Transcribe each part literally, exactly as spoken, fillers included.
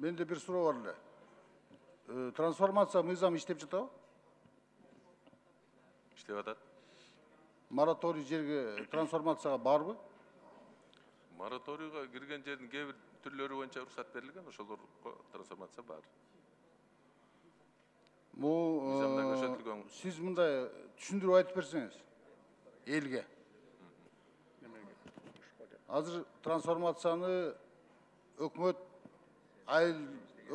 менде бир суроо бар эле. Трансформация мыйзамы иштеп жатабы? Иштеп атат. Мораторий жерге трансформацияга барбы? Мораторийга кирген жердин кээ бир түрлөрү боюнча уруксат берилген, ошолорго трансформация бар. Бул сиз мындай түшүндүрүп айтып берсеңиз элге. Азыр трансформацияны өкмөт айыл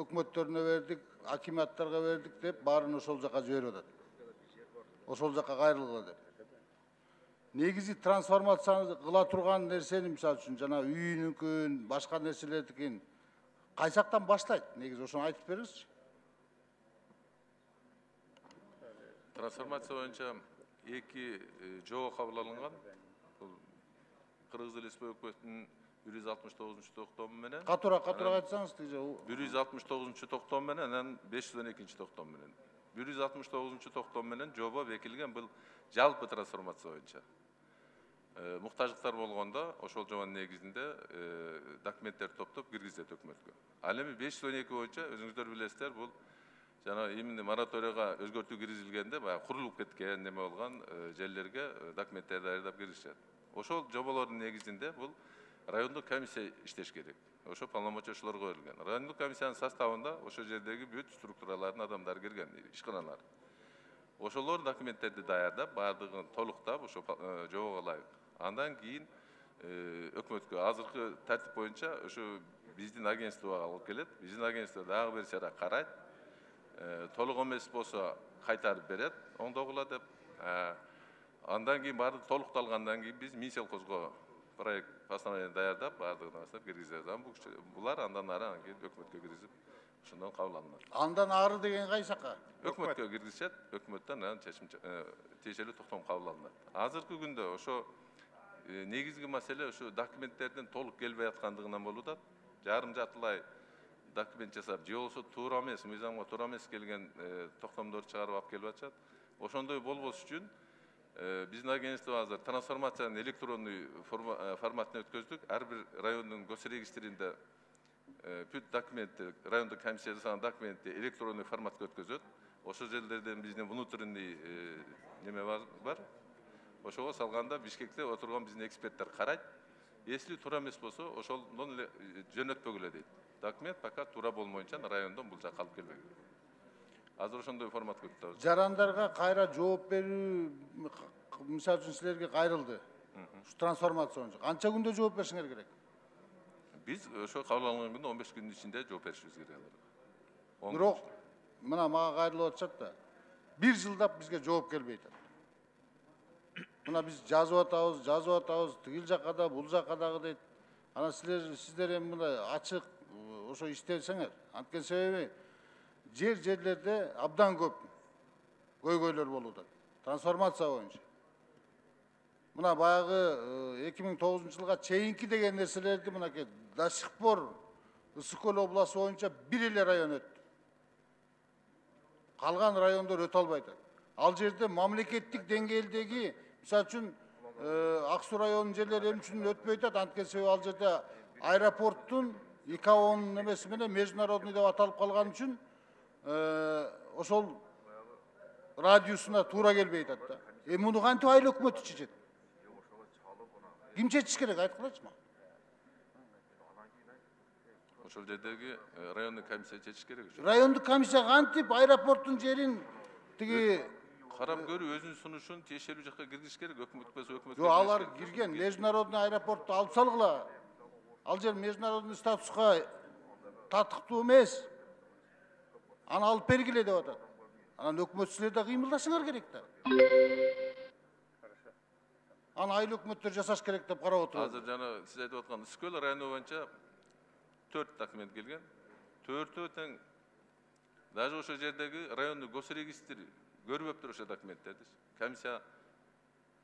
өкмөттөрүнө бердик, акиматтарга бердик деп баарын ошол жака жиберип атат. Ошол жака кайрылгыла деп. Негизи трансформацияны кыла турган нерсени, мисалы үчүн жана үйүнүкүн, башка нерселердикин кайсактан баштайт? Негизи ошону айтып бериңизчи. Трансформация боюнча эки жобо кабыл алынган. Бул Кыргыз Эл Республикасынын бир жүз алтымыш тогузунчу токтому менен. Катуура, катуура айтсаңыз тиже. бир жүз алтымыш тогузунчу токтому менен, анан беш жүз он экинчи токтому менен. бир жүз алтымыш тогузунчу токтому менен жобо бекитилген, бул жалпы трансформация боюнча. Муктаждыктар болгондо ошол жобонун негизинде документтерди топтоп киргизет өкмөткө. Ал эми беш жүз он эки боюнча өзүңүздөр билесиздер, бул жана именно мораторийга өзгөртүү киргизилгенде баягы курулуп кеткен неме болгон жерлерге документтерди даярдап киргизишет. Ошол жоболордун негизинде бул райондук комиссия иштеш керек. Ошо полномочияларга берилген. Райондук комиссиянын составында ошол жердеги бүт структуралардын адамдары кирген, ишканалар. Ошолор документтерди даярдап, баардыгын толуктап, ошо жобого ылайык. Андан кийин өкмөткө азыркы тартип боюнча ошо биздин агентствого алып келет. Биздин агентство дагы бир сара карайт. Толук эмес болсо кайтарып берет, оңдогула деп. Андан кийин баардыгы толукталгандан кийин биз Минсельхозго проект постановление даярдап, баардыгын астап киргизебиз. Булар андан ары анан кийин өкмөткө киргизип, ошондон кабыл алынат. Андан ары деген кайсакка? Өкмөткө киргизишет, өкмөттөн анан чечим тиешелүү токтом кабыл алынат. Азыркы күндө ошо негизги маселе ошо документтердин толук келбей аткандыгынан болуп атат. Жарым жартылай документ жасап, же болбосо туура эмес, мыйзамга туура эмес келген токтомдорду чыгарып алып келип атышат. Ошондой болбош үчүн биздин агентство азыр трансформациянын электрондой форматына өткөздүк. Ар бир райондун госрегистринде бүт документти, райондук комиссия жасаган документти электрондой форматка өткөзөт. Ошол жерлерден биздин внутренний неме бар. Ошого салганда Бишкекте отурган биздин эксперттер карайт. Если туура эмес болсо, ошондон эле жөнөтпөгүлө дейт. Документ пока туура болмоюнча райондон бул жака алып келбегиле. Азыр ошондой форматка өтөбүз. Жарандарга кайра жооп берүү, мисалы үчүн силерге кайрылды. Ушу трансформация боюнча канча күндө жооп беришиңер керек? Биз ошо кабыл алынган күндө он беш күндүн ичинде жооп беришибиз керек. Бирок мына мага кайрылып атышат да. Бир жылдап бизге жооп келбей атат. Мына биз жазып атабыз, жазып атабыз, тигил жакка да, бул жакка дагы дейт. Анан силер сиздер эми мындай ачык ошо иштесеңер, анткени себеби жер жерлерде абдан көп көйгөйлөр болуп атат. Трансформация боюнча. Мына баягы эки миң тогузунчу жылга чейинки деген нерселерди мынакей до сих пор Ысык көл областы боюнча бир эле район өттү. Калган райондор өтө албай атат. Ал жерде мамлекеттик деңгээлдеги, мисалы үчүн Ак Суу районунун жерлери эмне үчүн өтпөй атат? Анткени себеби ал жерде аэропорттун ИКАОнун немеси менен международный деп аталып калган үчүн ошол радиусуна туура келбей атат да. Эми муну кантип айыл өкмөтү чечет? Ким чечиш керек, айткылачы мага. Ошол жердеги райондук комиссия чечиш керек. Райондук комиссия кантип аэропорттун жерин тиги карап көрүп өзүнүн сунушун тиешелүү жакка киргизиш керек, өкмөт болсо өкмөткө. Жок, алар кирген, международный аэропортту алып салгыла. Ал жер международный статуска татыктуу эмес. Аны алып бергиле деп атат. Анан өкмөт силер да кыймылдашыңар керек да. Аны айыл өкмөттөр жасаш керек деп карап отурат. Азыр жана сиз айтып аткан Ысык көл району боюнча төрт документ келген. Төртөө тең даже ошол жердеги райондук госрегистр көрбөптүр ошо документтерди. Комиссия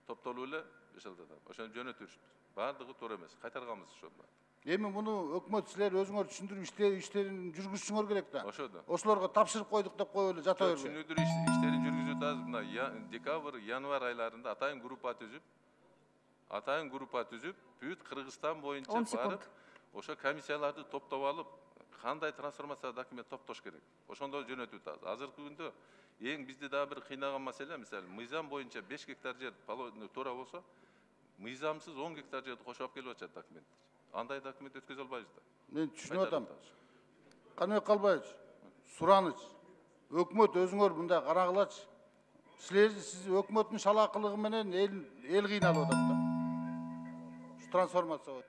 топтолуп эле бешалдады. Ошону жөнөтүрүшүбүз. Баардыгы туура эмес. Кайтарганбыз ошону. Эми муну өкмөт силер өзүңөр түшүндүрүп иштерин жүргүзүшүңөр керек да. Ошодо. Ошолорго тапшырып койдук деп коюп эле жата бербей. Түшүндүрүү иштерин жүргүзүп атабыз. Мына декабрь, январь айларында атайын группа түзүп, атайын группа түзүп, бүт Кыргызстан боюнча барып, ошо комиссияларды топтоп алып, кандай трансформация документ топтош керек, ошондо жөнөтүп атабыз. Азыркы күндө эң бизди дагы бир кыйнаган маселе, мисалы мыйзам боюнча беш гектар жер туура болсо, мыйзамсыз он гектар жерди кошуп алып келип атышат документ. Андай документ өткөзө албайбыз да. Мен түшүнүп атам. Каныбек Калбаевич, сураныч. Өкмөт өзүңөр мындай карагылачы. Силер сиз өкмөттүн шалаакылыгы менен эл эл кыйналып атат да. Трансформация.